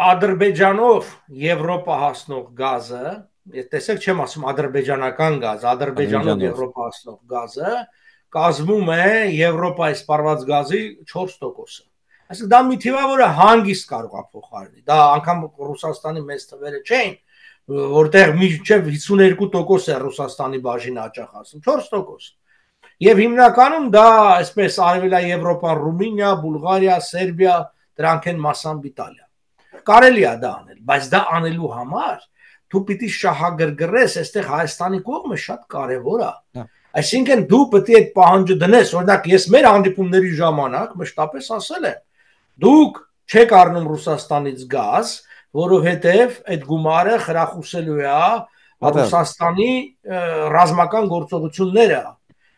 Ադրբեջանով Եվրոպա հասնող գազը, տեսեք չեմ ասում ադրբեջանական գազ, Ադրբեջանով Ադրբեջանով։ Եվրոպա հասնող գազը կազմում է Եվրոպայի սպառված գազի 4%-ը։ Այսինքն դա մի թիվ է, որը հանգիստ կարող է փոխարինել։ Դա անգամ Ռուսաստանի մեծ թվերը չէին, որտեղ մինչև 52% է Ռուսաստանի բաժինը հաճախ ասում, 4%։ Եվ հիմնականում դա այսպես արևելա Եվրոպան, Ռումինիա, Բուլղարիա, Սերբիա, դրանք են մասամբ Իտալիա։ Կարելի է դա անել, բայց դա անելու համար դու պիտի շահագրգռես, այստեղ Հայաստանի կողմը շատ կարևոր է։ Այսինքն դու պետք է այդ պահանջը դնես, օրինակ ես մեր հանդիպումների ժամանակ մշտապես ասել եմ, դուք չեք առնում Ռուսաստանից գազ, որովհետև այդ գումարը խրախուսելու է Ռուսաստանի ռազմական գործողությունները։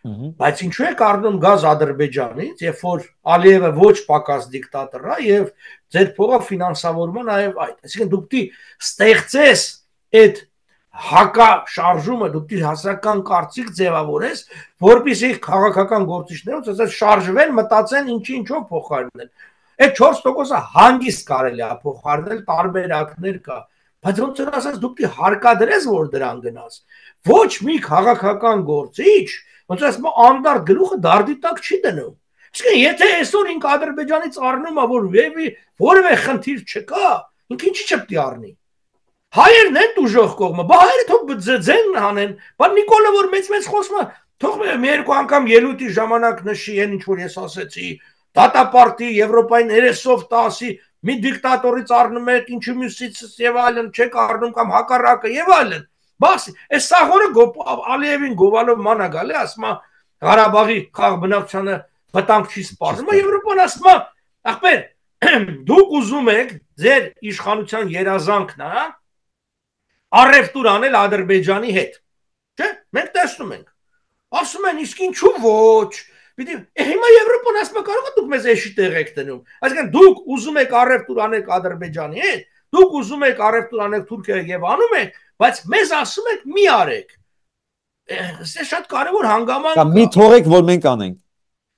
Բայց ինչու է առնում գազ Ադրբեջանից, երբ որ Ալիևը ոչ պակաս դիկտատոր է եւ ձեր փողը ֆինանսավորումը նաեւ այդ։ Այսինքն դուք պիտի ստեղծես այդ հակաշարժումը, դուք պիտի հասարակական կարծիք ձևավորես, որպեսզի քաղաքական գործիչներով ասած շարժվեն, մտածեն ինչով փոխարինել։ Այդ 4%-ը հանգիստ կարելի է փոխարինել, տարբերակներ կա, բայց ոնց որ ասած դուք պիտի հարկադրես, որ դրան գնաս։ Ոչ մի քաղաքական գործիչ ոնց ասում անդարդ գլուխը դարդի տակ չի դնում։ Իսկ եթե այսօր ինք Ադրբեջանից առնում է, որ որևէ խնդիր չկա, ինքը ինչի՞ չպետք է առնի։ Հայերն են դուժող կողմը, բա հայերը թող ձեն հանեն, բա Նիկոլը որ մեծ խոսում է, թող մի երկու անգամ ելույթի ժամանակ նշի այն ինչ որ ես ասեցի, դատապարտի Եվրոպային 30-10-ի մի դիկտատորից առնում եք, ինչու մյուսից եւ այլն չեք առնում կամ հակառակը եւ այլն։ Բաս այս սաղորը Ալիևին գովալով մանա գալի, ասում է Ղարաբաղի խաղ բնակչությանը վտանգ չի սպառնում, Եվրոպան ասում է, ախպեր, դուք ուզում եք ձեր իշխանության երազանքն է առևտուր անել Ադրբեջանի հետ։ Չէ՞, մենք տեսնում ենք։ Ասում են, իսկ ինչու ոչ։ Պիտի հիմա Եվրոպան ասում է կարող է դուք մեզ էշի տեղ եք դնում։ Այսինքն դուք ուզում եք առևտուր անել Ադրբեջանի հետ, դուք ուզում եք առևտուր անել Թուրքիայի եւ անում եք, բայց մեզ ասում եք մի արեք։ Սա շատ կարևոր հանգամանք է։ Մի թողեք, որ մենք անենք։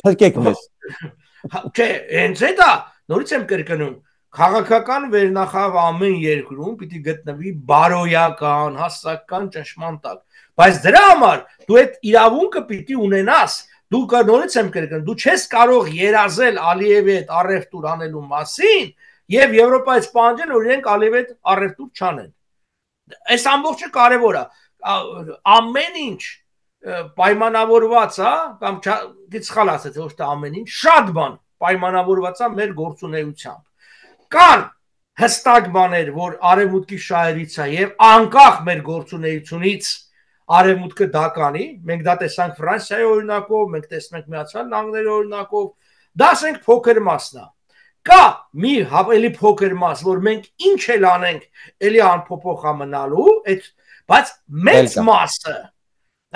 Փրկեք մեզ։ Չէ, հենց դա նորից եմ կրկնում, քաղաքական վերնախավ ամեն երկրում պիտի գտնվի բարոյական, հասարակական ճնշման տակ, բայց դրա համար դու այդ իրավունքը պիտի ունենաս, դու նորից եմ կրկնում, դու չես կարող երազել Ալիևի հետ առևտուր անելու մասին եւ Եվրոպայից պահանջել, որ իրենք Ալիևի հետ առևտուր չանեն։ Այս ամբողջը կարևոր է, ամեն ինչ պայմանավորված է, կամ սխալ ասեցի, ոչ թե ամեն ինչ, շատ բան պայմանավորված է մեր գործունեությամբ։ Կան հստակ բաներ, որ արևմուտքի շահերից է եւ անկախ մեր գործունեությունից արևմուտքը դա կանի, մենք դա տեսանք Ֆրանսիայի օրինակով, մենք տեսնում ենք Միացյալ Նահանգների օրինակով, դա ասենք փոքր մասն է։ Կա մի ավելի փոքր մաս, որ մենք ինչ էլ անենք, էլի անփոփոխ է մնալու, բայց մեծ մասը,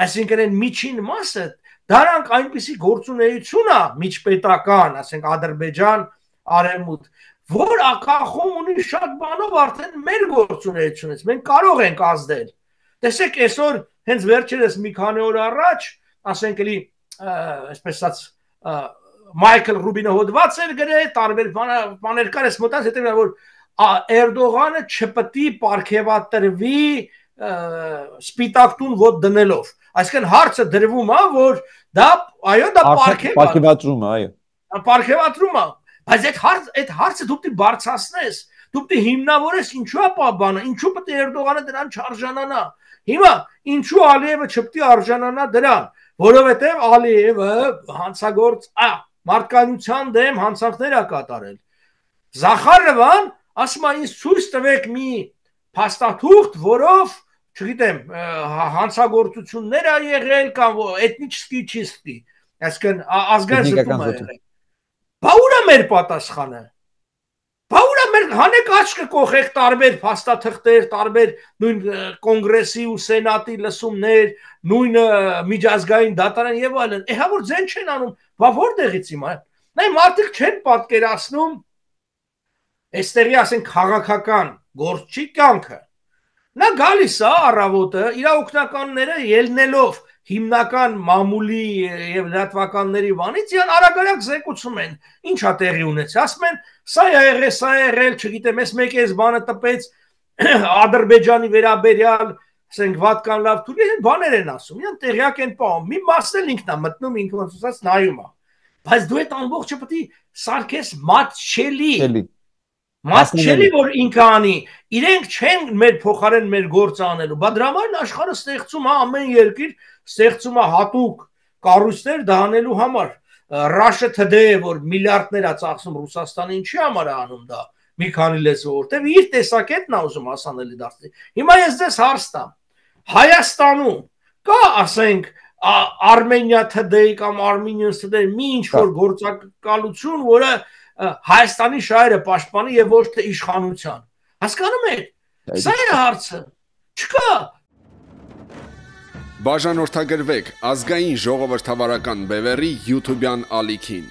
այսինքն այն միջին մասը, դրանք այնպիսի գործունեություն է միջպետական, ասենք Ադրբեջան, Արևմուտք, որ ակախում ունի շատ բանով արդեն մեր գործունեությունից, մենք կարող ենք ազդել։ Տեսեք, այսօր հենց վերջերս մի քանի օր առաջ, ասենք էլի, այսպես ասած, Մայքլ Ռուբինը հոդված էր գրել, տարբեր բաներ կար, ես մտած հետևյալ, որ Էրդողանը չպետք է պարգևատրվի սպիտակ տուն ոտ դնելով։ Այսինքն հարցը դրվում է, որ դա, այո, դա պարգևատրում է, այո։ Պարգևատրում է, բայց այդ հարցը դու պիտի բարձրացնես, դու պիտի հիմնավորես ինչու է բանը, ինչու պետք է Էրդողանը դրան չարժանանա։ Հիմա ինչու Ալիևը չպետք է արժանանա դրան, որովհետև Ալիևը հանցագործ մարդկանության դեմ հանցանքներ է կատարել։ Զախարովան ասում է ինձ ցույց տվեք մի փաստաթուղթ, որով, չգիտեմ, հանցագործություններ ա եղել կամ էթնիկի չիստի, այսինքն ազգային զտում է եղել։ Բա ուր է մեր պատասխանը։ Բա ուր է մեր հանեք աչքը կողեք տարբեր փաստաթղթեր, տարբեր նույն կոնգրեսի ու սենատի լսումներ, նույն միջազգային դատարան եւ այլն։ Հա որ ձեն չեն անում, բա որտեղից հիմա։ Նայ մարդիկ չեն պատկերացնում այստեղի ասենք քաղաքական գործչի կյանքը։ Նա գալիս է առավոտը իր օգնականները ելնելով հիմնական մամուլի եւ լրատվականների բանից իրան արագ զեկուցում են ինչա տեղի ունեցել ասում են սա եղել չգիտեմ ես մեկ էս բանը տպեց Ադրբեջանի վերաբերյալ ասենք վատկան լավ թուրք են բաներ են ասում իրան տեղյակ են պահում մի մասն էլ ինքն է մտնում ինքը ոնց ասած նայում է բայց դու այդ ամբողջը պետք է սարքես մատչելի որ ինքը անի իրենք չեն մեր փոխարեն մեր գործը անելու բա դրա համար աշխարհը ստեղծում է ամեն երկիր ստեղծում է հատուկ կառույցներ դա անելու համար Russia Today որ միլիարդներ է ծախսում Ռուսաստանին ինչի համար է անում դա մի քանի լեզվով որտեվ իր տեսակետն է ուզում հասանելի դարձնել հիմա ես ձեզ հարց տամ Հայաստանում կա ասենք Armenia Today կամ Armenian Today մի ինչ որ գործակալություն որը Հայաստանի շահերը պաշտպանի եւ ոչ թե իշխանության հասկանում եք սա է հարցը չկա Բաժանորդագրվեք ազգային ժողովրդավարական բևեռի YouTube-յան ալիքին